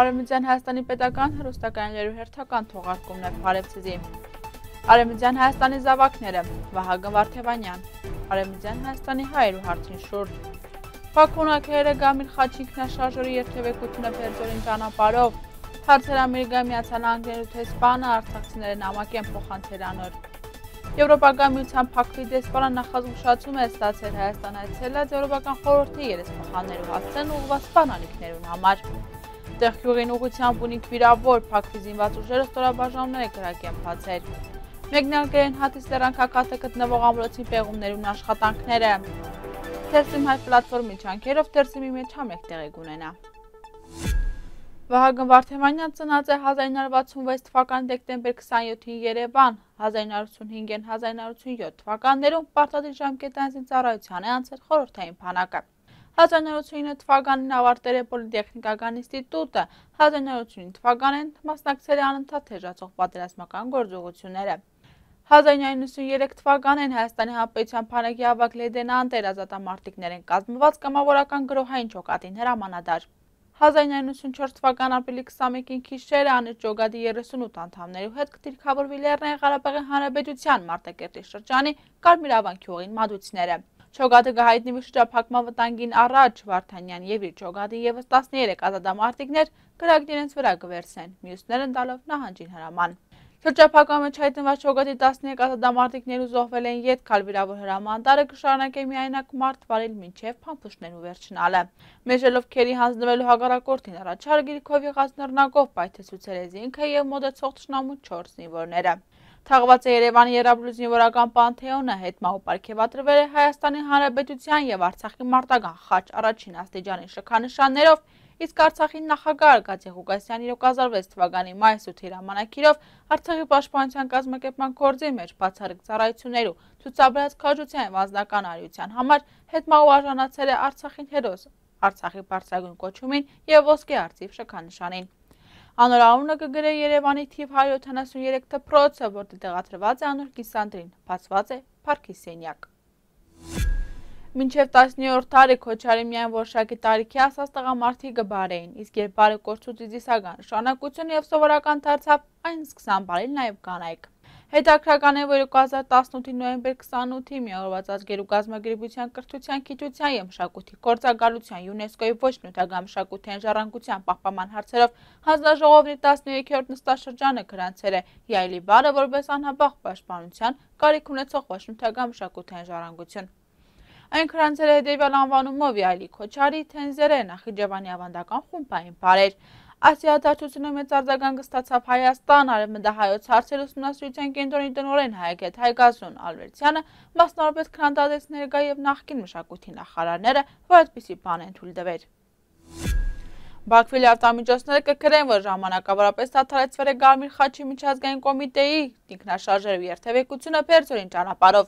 Արևմտյան Հայաստանի պետական հեռուստակայաններու հերթական թողարկումներ Փարեվցիզի։ Արևմտյան Հայաստանի զավակները Վահագն Վարդևանյան։ Արևմտյան Հայաստանի հայերու հարցին շուրջ։ Փակունակերը Գամիլ Խաչի ինքնաշարժերի երթևեկությունը Պերձորին ճանապարհով։ Հարցեր Ամերիկայի Միացյալ Նահանգներու տեսփանը արցախցիները նամակ են փոխանցել անոր։ Եվրոպական միության Փակվի դեսպանը նախազգուշացում է ստացել Հայաստան այցելած Եվրոպական խորհրդի երեսփոխաններու հասցեն ուղղված սպանալիքներուն համար։ Տեղքյուղին ուղղությամբ ունիկ վիրավոր Փակվի զինված ուժերը ստորաբաժանումներ կրակեն բացել։ Մեկնարկել են Հատիս լեռան քաղաքը գտնվող ամրոցի պեղումներուն աշխատանքները։ Թերսիմ հայ պլատֆորմի ջանքերով Թերսիմի մեջ համեղ տեղի կունենա։ Վահագն Վարդևանյան ծնած է 1966 թվականի դեկտեմբեր 27-ին Երևան, 1985-ին 1987 թվականներում պարտադիր ժամկետային զինծառայության է անցել խորհրդային բանակը։ 1989 թվականին ավարտել է Պոլիտեխնիկական ինստիտուտը, 1989 թվականին մասնակցել է անընդհատ թեժացող պատերազմական գործողությունները։ 1993 թվականին Հայաստանի Հանրապետության բանակի ավագ լեյտենանտ էր ազատամարտիկներեն կազմված կամավորական գրոհային ջոկատին հրամանատար։ 1994 թվական ապրիլի 21-ին քիշերը անիճ ջոկատի 38 անդամներու հետ կդիրքավորվի Լեռնային Ղարաբաղի Հանրապետության Մարտակերտի շրջանի Կարմիր ավանքյուղին մատուցները։ Ջոկատը կհայտնվի շրջափակման վտանգին առաջ Վարդանյան եւ իր ջոկատի եւս 13 ազատամարտիկներ կրակն իրենց վրա կվերցնեն, մյուսներն տալով նահանջին հրաման։ Շրջափակման մեջ հայտնված ջոկատի 13 ազատամարտիկներու զոհվել են յետ քալվիրավոր հրամանատարը կշարունակե միայնակ մարդ վարել մինչև փամփուշտներու վերջնալը։ Մեժելով քերի հանձնվելու հակառակորդին առաջարը Գրիգով եղած նռնակով պայթեցուցել է զինքը եւ մոտեցող թշնամու 4 զինվորները։ Թաղված է Երևանի Եռաբլու զինվորական պանթեոնը, հետմահու պարգևատրվել է Հայաստանի Հանրապետության եւ Արցախի մարտական խաչ առաջին աստիճանի շքանշաններով, իսկ Արցախի նախագահ Արգադի Ղուկասյանի 2006 թվականի մայիսի 8-ի հրամանագիրով Արցախի պաշտպանության կազմակերպման գործի մեջ բացառիկ ծառայություններու ցուցաբերած քաջության անձնական արիության համար հետմահու արժանացել է Արցախին հերոս, Արցախի բարձրագույն կոչումին եւ ոսկե արծիվ շքանշանին։ Անոր անունը կգրե Երևանի թիվ 173 դպրոցը, որտեղ տեղադրված է անոր կիսանդրին, բացված է Փարքի սենյակ։ Մինչև 10-րդ դարի Քոչարի միայն որոշակի տարիքի ասած տղամարդիկ կբարեին, իսկ երբ բարը կորցուց իզիսական նշանակություն եւ սովորական դարձավ, այն սկսան բարել նաեւ կանայք։ Հետաքրական է, որ 2018-ի նոյեմբեր 28-ի միավորված ազգերու կազմակերպության կրթության, գիտության եւ մշակույթի գործակալության ՅՈՒՆԵՍԿՕ-ի ոչ նյութական մշակութային ժառանգության պահպանման հարցերով հանձնաժողովի 13-րդ նստաշրջանը գրանցել է Յայլի բարը որպես անհապաղ պաշտպանության կարիք ունեցող ոչ նյութական մշակութային ժառանգություն։ Այն գրանցել է հետևյալ անվանումով Յայլի Քոչարի Թենզերը Նախիջևանի ավանդական խումբային բարեր։ Այս իրադարձությունը մեծ արձագանք ստացավ Հայաստան, արևմտահայոց հարցեր ուսումնասիրության կենտրոնի տնօրեն Հայագետ Հայգազուն Ալվերդյանը, մասնավորապես քննադատեց ներկա եւ նախկին մշակույթի նախարարները, որ այդպիսի բան են թույլ տվել։ Բաքվի լրատվամիջոցները կգրեն, որ ժամանակավորապես դադարեցվել է Կարմիր խաչի միջազգային կոմիտեի ինքնաշարժերու երթևեկությունը Պերձորին ճանապարհով։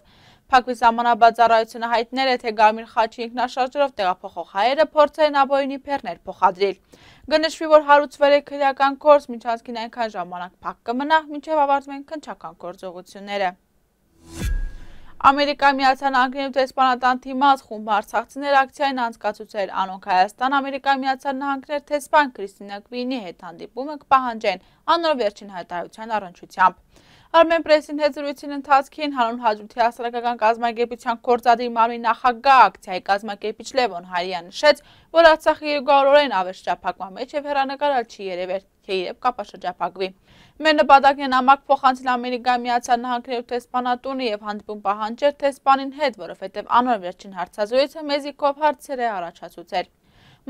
Փակվի սահմանաբար ծառայությունը հայտնել է, թե Կարմիր խաչի ինքնաշարժերով տեղափոխող հայերը փորձել են ապօրինի բեռներ փոխադրել։ Կնշվի, որ հարուցվել է քրեական գործ, միջանցքին այնքան ժամանակ փակ կմնա, մինչև ավարտվեն քննչական գործողությունները։ Ամերիկայի Միացյալ Նահանգներու տեսփանատան թիմած խումբ արցախցիներ ակցիային անցկացուցել անոնք Հայաստան, Ամերիկայի Միացյալ Նահանգներ տեսփան Քրիստինա Քվինի հետ հանդիպումը կպահանջեն անոր վերջին հայտարարության առնչությամբ։ Armen Press-ին հետ զրույցին ընթացքին հանուն հաջորդի հասարակական կազմակերպության գործադիր մարմնի նախագահ ակցիայի կազմակերպիչ Լևոն Հարիան նշեց, որ Արցախի երկարորեն ավեր շրջափակման մեջ եւ հեռանկարալ չի երևեր, թե իրեւ կապաշրջափակվի։ Մեր նպատակն է նամակ փոխանցել Ամերիկայի Միացյալ Նահանգներու տեսփանատունը եւ հանդիպում պահանջել տեսփանին հետ, որովհետեւ անոր վերջին հարցազրույցը մեզի կով հարցեր է առաջացուցել։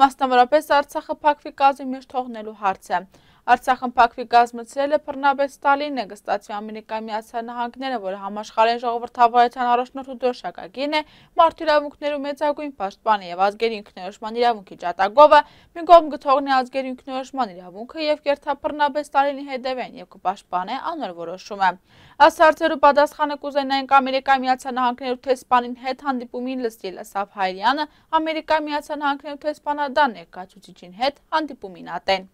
Մասնավորապես Արցախը Փակվի կազմի մեջ թողնելու հարցը։ Արցախն Փակվի կազմեցրել է բռնաբեդ Ստալինը, կստացվի Ամերիկայի Միացյալ Նահանգները, որը համաշխարհային ժողովրդավարության առաջնորդ ու դրոշակագին է, մարդու իրավունքներու մեծագույն պաշտպանը եւ ազգերի ինքնորոշման իրավունքի ջատագովը, մի կողմ կթողնի ազգերի ինքնորոշման իրավունքը եւ կերթաբռնաբեդ Ստալինի հետևեն եւ կպաշտպանե անոր որոշումը։ Այս հարցերու պատասխանը կուզենայինք Ամերիկայի Միացյալ Նահանգներու տեսփանին հետ հանդիպումին լսել Ասաֆ Հայրյանը, Ամերիկայի Միացյալ Նահանգներու տեսփանադան ներկայացուցիչին հետ հանդիպումին ատեն։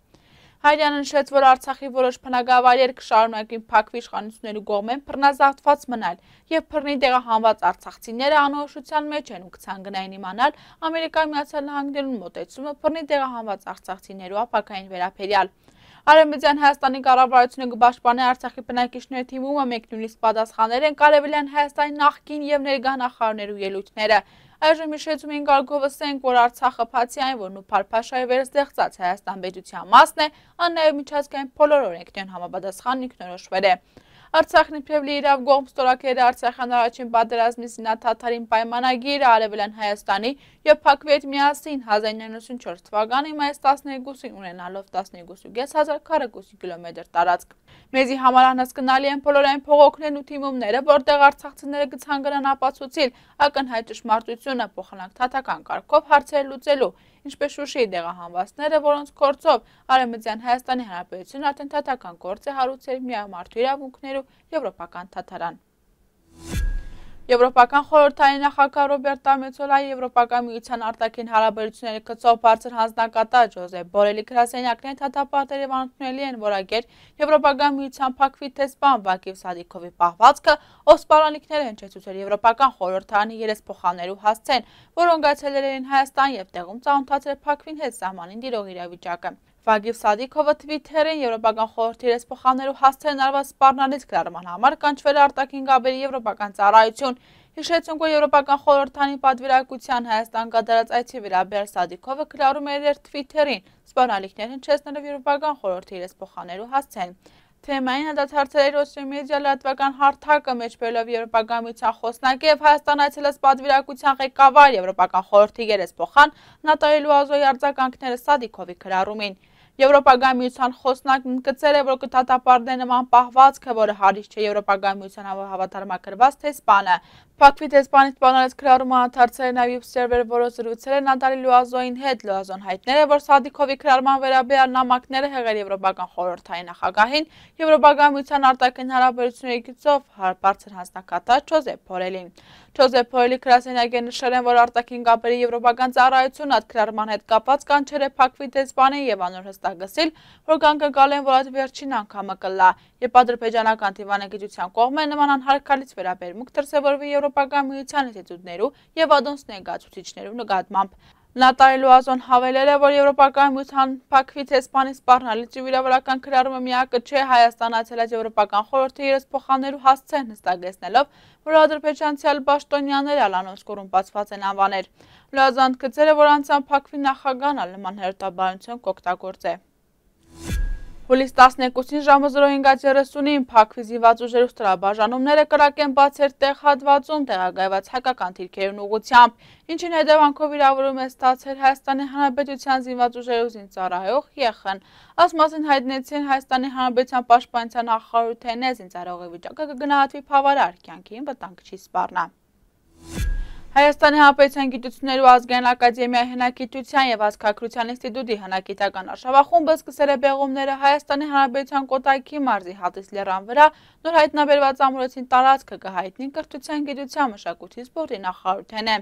Հայրյանը նշեց, որ Արցախի որոշ բնակավայրեր կշարունակեն փակվի իշխանությունների կողմեն բռնազավթված մնալ եւ բռնի տեղահանված արցախցիները անորոշության մեջ են ու կցանկանային իմանալ Ամերիկայի Միացյալ Նահանգներուն մոտեցումը բռնի տեղահանված արցախցիներու ապակային վերաբերյալ։ Արևմտյան Հայաստանի կառավարությունը կպաշտպանի Արցախի բնակիչների թիմումը մեկ նույնիսկ պատասխաներ են կարևելյան Հայաստանի նախկին եւ ներկա նախարարներու ելույթները։ Այժմ հիշեցում ենք արգովսենք, որ Արցախը բացի այն, որ Նուփար-Փաշայի վերստեղծած Հայաստան պետության մասն է, ան նաև միջազգային բոլոր օրենքներուն համապատասխան ինքնորոշվել է։ Արցախն իբրև լիիրավ կողմ ստորագրել է Արցախյան առաջին պատերազմի զինաթաթարին պայմանագիրը Արևելյան Հայաստանի եւ փակվի հետ միասին 1994 թվականի մայիս 12-ին ունենալով 12.500 քառակուսի կիլոմետր տարածք։ Մեզի համար անհասկանալի են բոլոր այն փողոքներն ու թիմումները, որտեղ արցախցիները կցանկանան ապացուցիլ ակնհայտ ճշմարտությունը փոխանակ թաթական կարգով հարցեր լուծելու, ինչպես Շուշիի տեղահանվածները, որոնց գործով Արևմտյան Հայաստանի Հանրապետությունը արդեն թաթական գործ է հարուցել միամարտու իրավունքներու եվրոպական թաթարան։ Եվրոպական խորհրդային նախագահ Ռոբերտա Մեծոլայի Եվրոպական միության արտաքին հարաբերությունների գծով բարձր հանձնակատար Ջոզեփ Բորելի գրասենյակներն թաթապարտել եւ անընդունելի են որակել Եվրոպական միության փակվի տեսփան Վակիվ Սադիքովի պահվածքը, ով սպառնալիքներ են հնչեցուցել Եվրոպական խորհրդարանի երեսփոխաններու հասցեն, որոնք այցելել էին Հայաստան եւ տեղում ծանոթացել փակվին հետ սահմանին տիրող իրավիճակը։ Վագիվ Սադիքովը Թվիթերին Եվրոպական խորհրդի երեսփոխաններու հասցեն արված սպառնալից գրառման համար կանչվել արտաքին գաբերի եվրոպական ծառայություն։ Հիշեցünk, որ Եվրոպական խորհրդանի պատվիրակության Հայաստան կատարած այցի վերաբերյալ Սադիքովը գրառում էր իր Թվիթերին սպառնալիքներ հնչեցնելով Եվրոպական խորհրդի երեսփոխաններու հասցեն։ Թեմային հանդարտացել է Ռոսիա մեդիա լրատվական հարթակը մեջբերելով Եվրոպական միության խոսնակի եւ Հայաստան այցելած պատվիրակության ղեկավար Եվրոպական խորհրդի երեսփոխան Նատալի Լուազոյի արձագանքները Սադիքովի գրառումին։ Եվրոպական միության խոսնակն ընդգծել է, որ կդատապարտի նման պահվածքը, որը հարից չէ Եվրոպական միության հավատարմագրված տեսփանը։ Փակվի տեսփանի սպառնալից գրառումը անդրադարձել է նաև սերվերը, որը զրուցել է Նատալի Լուազոյին հետ։ Լուազոն հայտնել է, որ Սադիքովի գրառման վերաբերյալ նամակները հղել Եվրոպական խորհրդային նախագահին, Եվրոպական միության արտաքին հարաբերությունների գծով բարձր հանձնակատար Ջոզեփ Բորելին։ Ջոզեփ Բորելի գրասենյակը նշել են, որ արտաքին կապերի եվրոպական ծառայությունը այդ գրառման հետ կապված կանչել է փակվի տեսփանին եւ անոր հստակեցել, որ կանգնկալ են, որ այդ վերջին անգամը կլա, եւ ադրբեջանական դիվանագիտության կողմը նման անհարգալից վերաբերմունք դրսեւորվի Եվրոպական միության ինստիտուտներու եւ ադոնս ներկայացուցիչներու նկատմամբ։ Նատալի Լուազոն հավելել է, որ Եվրոպական միության փակվի տեսփանի սպառնալից ու վիրավորական գրառումը միակը չէ Հայաստան այցելած Եվրոպական խորհրդի երեսփոխաններու հասցեն հստակեցնելով, որ ադրբեջանցիալ պաշտոնյաները անոնց կոռումպացված են անվանել։ Լուազոն ընդգծել է, որ անցան փակվի նախագահան նման հերթաբանություն կօգտագործե։ Հուլիս 12-ին ժամը 05:30-ին փակվի զինված ուժերու ստորաբաժանումները կրակեն բացեր տեղ հատվածում տեղակայված հայկական թիրքերուն ուղղությամբ, ինչին հետևանքով վիրավորում է ստացել Հայաստանի Հանրապետության զինված ուժերու զինծառայող ԵԽ-ն։ Ասմասին հայտնեցին Հայաստանի Հանրապետության պաշտպանության նախարարութենե զինծառայողի վիճակը կգնահատվի բավարար, կյանքին վտանգ չի սպառնա։ Հայաստանի Հանրապետության գիտություններու ազգային ակադեմիայի հնագիտության եւ ազգագրության ինստիտուտի հնագիտական արշավախումբը սկսել է բեղումները Հայաստանի Հանրապետության Կոտայքի մարզի Հատիս լեռան վրա նոր հայտնաբերված ամրոցին տարածքը կհայտնի կրթության, գիտության, մշակույթի, սպորտի նախարարութենը։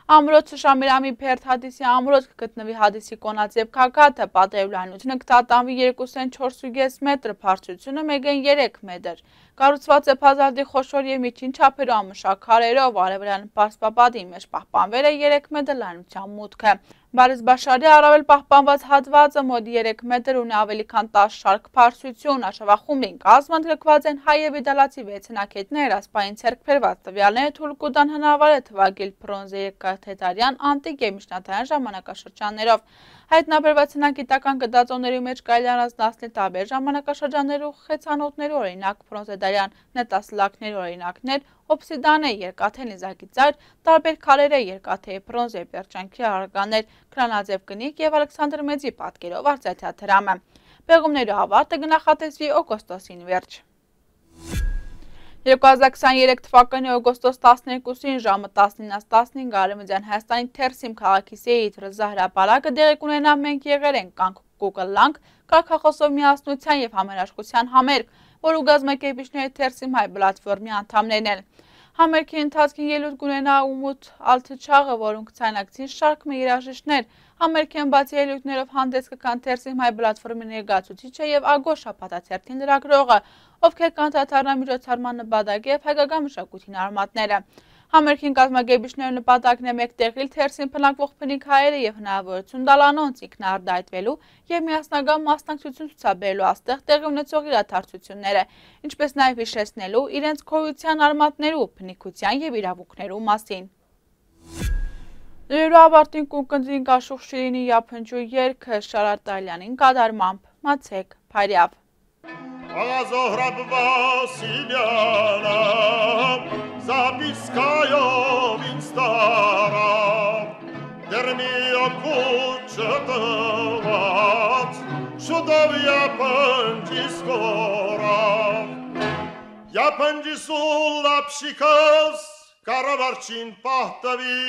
Ամրոցը Շամիրամի Փերթ Հադիսի ամրոց կգտնվի Հադիսի կոնաձև քակաթը, պատերու լայնությունը կտատանվի 2.4 մետր, բարձրությունը 1.3 մետր։ Կառուցված է բազալտի խոշոր եւ միջին չափերով ամշակ քարերով, արևելյան պարսպապատի մեջ պահպանվել է 3 մետր լայնության մուտքը։ Բարիս Բաշարի առավել պահպանված հատվածը մոտ 3 մետր ունի ավելի քան 10 շարք բարձրություն, արշավախումբին կազմընդգրկված են հայ եւ իտալացի 6 հնակետներ, ասպային ցերկբերված տվյալները թույլ կտան հնարավոր է թվակել բրոնզե երկաթեթարյան, անտիկ եւ միջնադարյան ժամանակաշրջաններով։ Հայտնաբերված հնագիտական գտածոների մեջ կարելի առանձնացնել տարբեր ժամանակաշրջաններու խեցանոթներու օրինակ բրոնզեդարյան նետասլակների օրինակներ, օբսիդանը, երկաթե նիզակի ծայր, տարբեր քարերը, երկաթե բրոնզե պերճանքի արգաներ, քրանաձև կնիկ եւ Ալեքսանդր Մեծի պատկերով արծաթյա դրամը։ Բեղումներու ավարտը կնախատեսվի օգոստոսին վերջ։ 2023 թվականի օգոստոս 12-ին ժամը 19:15 Արևմտյան Հայաստանի Թերսիմ քաղաքի Սեյիդ Ռզա հրապարակը դեղի կունենա մենք եղել ենք կանք կուկլանք կարգախոսով միասնության եւ համերաշխության համերգ, որը գազམ་եկեղեցիների Թերսիմ հայ պլատֆորմի անդամներն են։ Համերգի ընթացքին ելույթ կունենա Ումուտ Ալթչաղը, որոնք ցանկացին շարք մի երաժիշտներ, Համերգյան բացի ելույթներով հանդես կգան Թերսիմ հայ պլատֆորմի ներկայացուցիչը եւ Ագոր շաբաթաթերթին լրագրողը, ովքեր կանդրադառնան միջոցառման նպատակի եւ հայկական մշակույթին արմատները։ Համերգին կազմակերպիչների նպատակն է մեկտեղել Թերսին բնակվող բնիկ հայերը եւ հնարավորություն տալ անոնց ինքնաարդայտվելու եւ միասնական մասնակցություն ցուցաբերելու աստեղ տեղի ունեցող իրադարձությունները, ինչպես նաեւ հիշեցնելու իրենց գոյության արմատներու, բնիկության եւ իրավունքներու մասին։ Լրիվ ավարտին կունկնդրին Գաշուխ Շիրինի Յափնջու երգը Շարատալյանին կատարմամբ մացեք Փարյավ։ Zohrab Vasilyana Zapiskayo Vinstara Dermiyo Kuchatavat Shudov Yapanjiskora Yapanjisulapshikas Karavarchin Pahtavi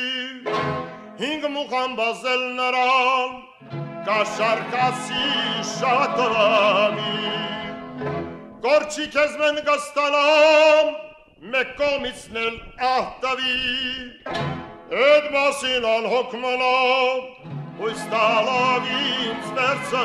Hing Muhambazel Naram Kasharkasi Shatami Gorçi kezmen gastalam Mekkomisnel ahtavi Edmasin al hokmanam Uistalavim zverca